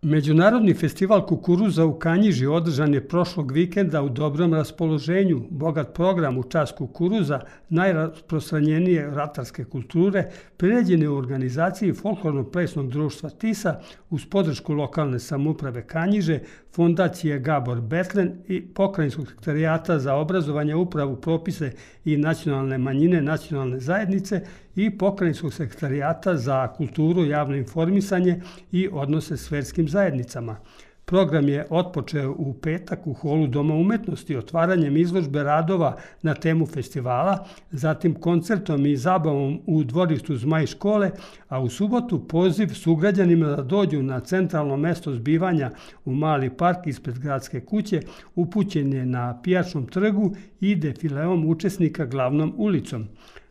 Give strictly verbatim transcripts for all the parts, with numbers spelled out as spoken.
Međunarodni festival kukuruza u Kanjiži održan je prošlog vikenda u dobrom raspoloženju. Bogat program u čast kukuruza, najrasprostranjenije ratarske kulture, priređen je u organizaciji Folklorno-plesnog društva Tisa uz podršku lokalne samouprave Kanjiže, Fondacije Gabor Betlen i Pokrajinskog sekretarijata za obrazovanje, upravu, propise i nacionalne manjine nacionalne zajednice i Pokrajinskog sekretarijata za kulturu, javno informisanje i odnose s verskim zajednicama. Program je otpočeo u petak u holu Doma umetnosti otvaranjem izložbe radova na temu festivala, zatim koncertom i zabavom u dvorištu Zmaj škole, a u subotu poziv sugrađanima da dođu na centralno mesto zbivanja u Mali park ispred gradske kuće upućen je na Pijačnom trgu i defileom učesnika glavnom ulicom.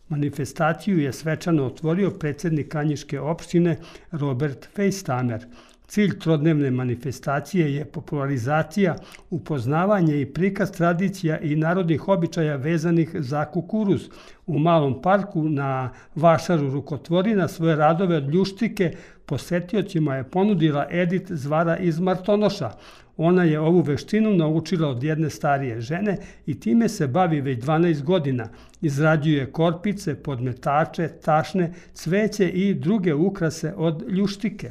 Manifestaciju je svečano otvorio predsjednik Kanjiške opštine Robert Fejstamer. Cilj trodnevne manifestacije je popularizacija, upoznavanje i prikaz tradicija i narodnih običaja vezanih za kukuruz. U Malom parku na vašaru rukotvorina svoje radove od ljuštike posetiocima je ponudila Edit Zvara iz Martonoša. Ona je ovu veštinu naučila od jedne starije žene i time se bavi već dvanaest godina. Izrađuje korpice, podmetače, tašne, cveće i druge ukrase od ljuštike.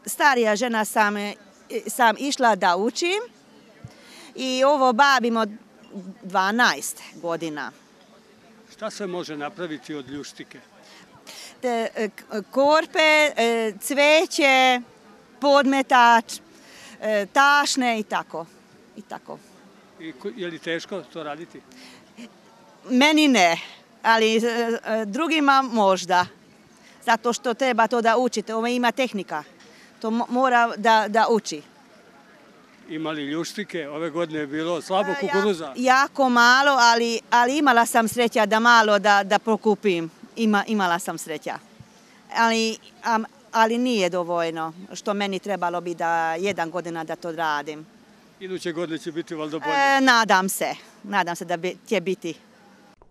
Starija žena sam, sam išla da učim i ovo bavimo dvanaest godina. Šta se može napraviti od ljuštike? Te, korpe, cveće, podmetač, tašne i tako. I tako. I je li teško to raditi? Meni ne, ali drugima možda. Zato što treba to da učite, ovo ima tehnika. To mora da, da uči. Ima li ljuštike? Ove godine je bilo slabo kukuruza? Ja, jako malo, ali, ali imala sam sreća da malo da, da pokupim. Ima, imala sam sreća. Ali, um, ali nije dovoljno, što meni trebalo bi da jedan godina da to radim. Iduće godine će biti valjda bolje? E, nadam se. Nadam se da bi, će biti.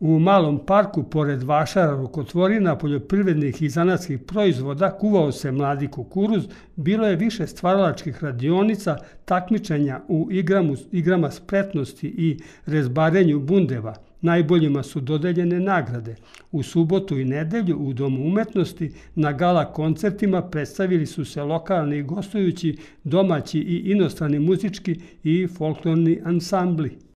U Malom parku, pored vašara rukotvorina, poljoprivrednih i zanatskih proizvoda, kuvao se mladi kukuruz, bilo je više stvaralačkih radionica, takmičenja u igramu, igrama spretnosti i rezbarenju bundeva. Najboljima su dodeljene nagrade. U subotu i nedelju u Domu umetnosti na gala koncertima predstavili su se lokalni gostujući, domaći i inostrani muzički i folklorni ansambli.